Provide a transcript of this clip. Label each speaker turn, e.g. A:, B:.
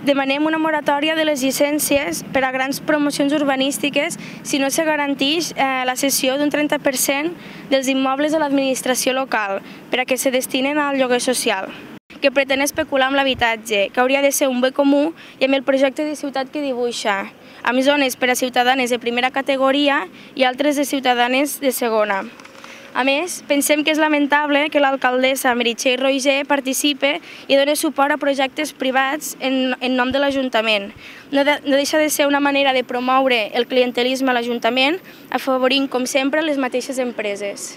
A: Demanem una moratòria de les llicències per a grans promocions urbanístiques si no se garanteix la cessió d'un 30% dels immobles de l'administració local per a que se destinen al lloguer social, que pretén especular amb l'habitatge, que hauria de ser un bé comú i amb el projecte de ciutat que dibuixa, amb zones per a ciutadanes de primera categoria i altres de ciutadanes de segona. A més, pensem que és lamentable que l'alcaldessa Meritxell Roigé participe i doni suport a projectes privats en nom de l'Ajuntament. No deixa de ser una manera de promoure el clientelisme a l'Ajuntament, afavorint, com sempre, les mateixes empreses.